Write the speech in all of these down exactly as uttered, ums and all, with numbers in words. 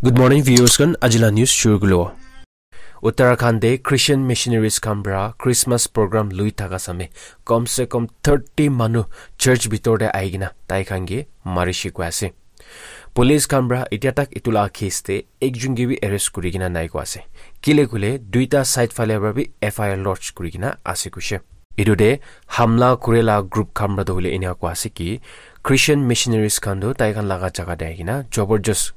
Good morning, viewers khan. Ajila news shuru kulo. Uttarakhand de Christian missionaries khan pra Christmas program lui thaka same, kom se kom thirty manu church bitor de aigina tai khan ke mari shi koi ase. Police khan pra itia tak itu la case de ekjun ke bi arrest kuri kena nai koi ase. Kile kule duita side phale pra bi F I R lodge kuri kena ase kuishe. Itu de hamla kure la group khan pra toh hoile enia koi ase ki Christian missionaries khan toh tai khan laga jaga de aigina jabardast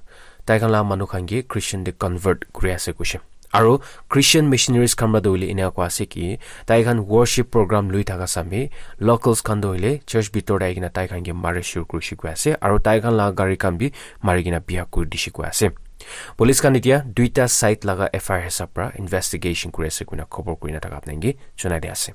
tai khan la manu khan ke Christian de convert kuri ase kuishe. Aro Christian missionaries khan pra toh hoile enia koi ase ki tai khan worship program lui thaka same locals khan toh hoile church bitor de aigina tai khan ke mari shuru kuri shi koi ase. Aro tai khan la gari khan bi mari kena biya kuri dishi koi ase. Police khan itia duita side laga F I R hisab pra investigation kuri ase koina khobor kurina thaka apnai ke jonai di ase.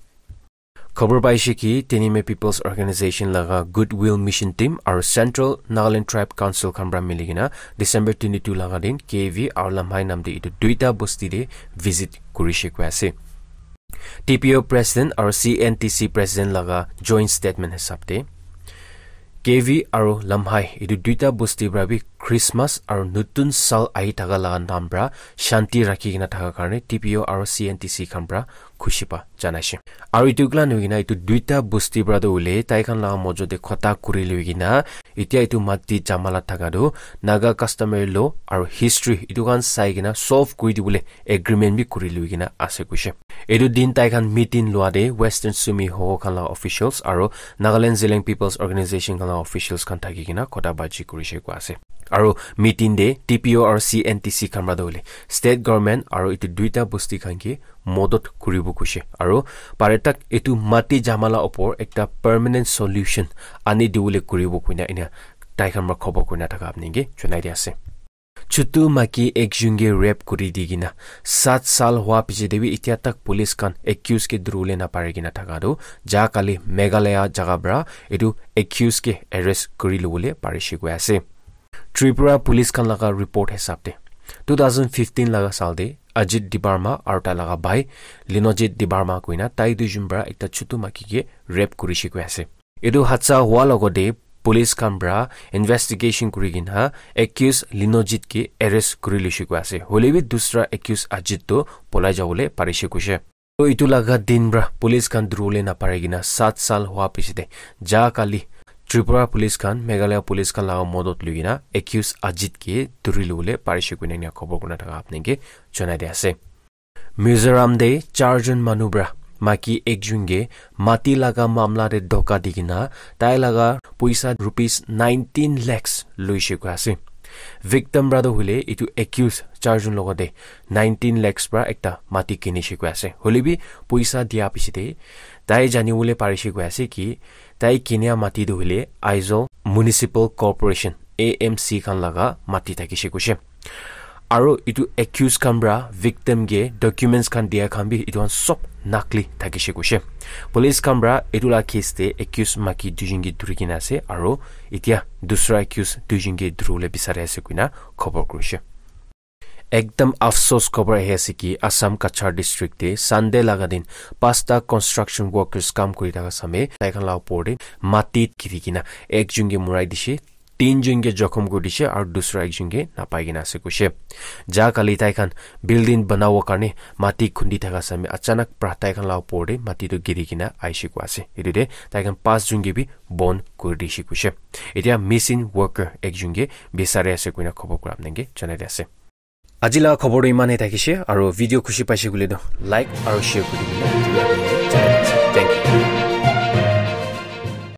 Khobor paishe ki Tenime People's Organization laga Goodwill Mission Team aro Central Nagaland Tribe Council khan pra mili kena December twenty-two laga din K V aro Lamhai nam de itu duita bosti de visit kuri shi koi ase. T P O President aro C N T C President laga joint statement hisab de K V aro Lamhai itu duita bosti pra bi Christmas aro nutun sal ahi thaka laga nam pra shanti rakhi kena thaka karne T P O aro C N T C khan pra khushi pa janaishe. Aro itu klan hoikena itu duita bosti pra toh hoile tai khan laga mojo de khota kuri loikena itia itu mati jamala thaka toh Naga customary law aro history itu khan sai kena solve kuri dibole agreement bi kuri loikena ase kuishe. Itu din tai khan meeting lua de Western Sumi Hoho khan laga officials aro Nagaland Zeliang People's Organization khan laga officials khan thaki kena khota baji kuri shi koi ase. Aro meeting de T P O aro C N T C khan pra toh hoile state government aro itu duita bosti khan ke modot kuribo kuishe. Aro pare tak itu mati jamala opor ekta permanent solution ani dibole kuribo koina enia tai khan pra khobor kurina thaka apnai ke jonai di ase. Chutu maki ekjun ke rape kuri di kena sat sal hua piche de bi itia tak police khan accused ke duribole napari kena thaka toh ja kali Meghalaya jaga pra itu accused ke arrest kuri lobole pari shi koi ase. Tripura police khan laga report hisab de two thousand fifteen laga sal de Ajit Debbarma aro tai laga bhai Linojit Debbarma koina tai duijun pra ekta chutu maki ke rape kuri shi koi ase. Etu hadsa hua logot te police khan para investigation kuri kena accused Linojit ke arrest kuri loise koi ase. Hoile bi dusra accused Ajit toh polai jabole parise koise. Toh etu laga din para police khan duribole napari kena saat saal hua piche te ja kali Tripura police khan, Meghalaya police khan laga modot loi kena accused Ajit ke duri lobole parise koina enia khobor kurina thaka apni ke jonai di ase. Mizoram te charjon manu para maiki ekjon ke mati laga mamla te dhoka di kena tai laga poisa rupees nineteen lakhs loise koi ase. Victim para toh hoile etu accused charjon logote nineteen lakhs para ekta mati kinise koi ase. Hoile bi poisa dia piche te tai jani bole parise koi ase ki tai kinia mati toh hoile Aizawl Municipal Corporation, A M C, khan laga mati thakise koise. Aro etu accused khan para victim ke documents khan dia khan bi etu khan sob nakli thakise koise. Police khan para etu la case te accused maiki duijon ke duri kena ase aro etia dusra accused duijon ke duribole bisari ase koina khobor kurise. Ekdam afsos khobor ahi ase ki Assam Cachar district te Sunday laga din pasta construction workers kam kuri thaka same tai khan la upor te mati giri kena ekjon ke murai dise, tinjon ke jokhom kuri dise aro dusra ekjon ke napai kena ase koise. Ja kali tai khan building banabo karne mati khundi thaka same achanak para tai khan la upor te mati toh giri kena aise koi ase. Etu te tai khan pas jon ke bi bon kuri dise koise. Etia missing worker ekjon ke bisari ase koina khobor kura apni ke jonai di ase. Aji la khobor toh iman he thakise, aro video khushi paise koile toh like aro share kuri dibole.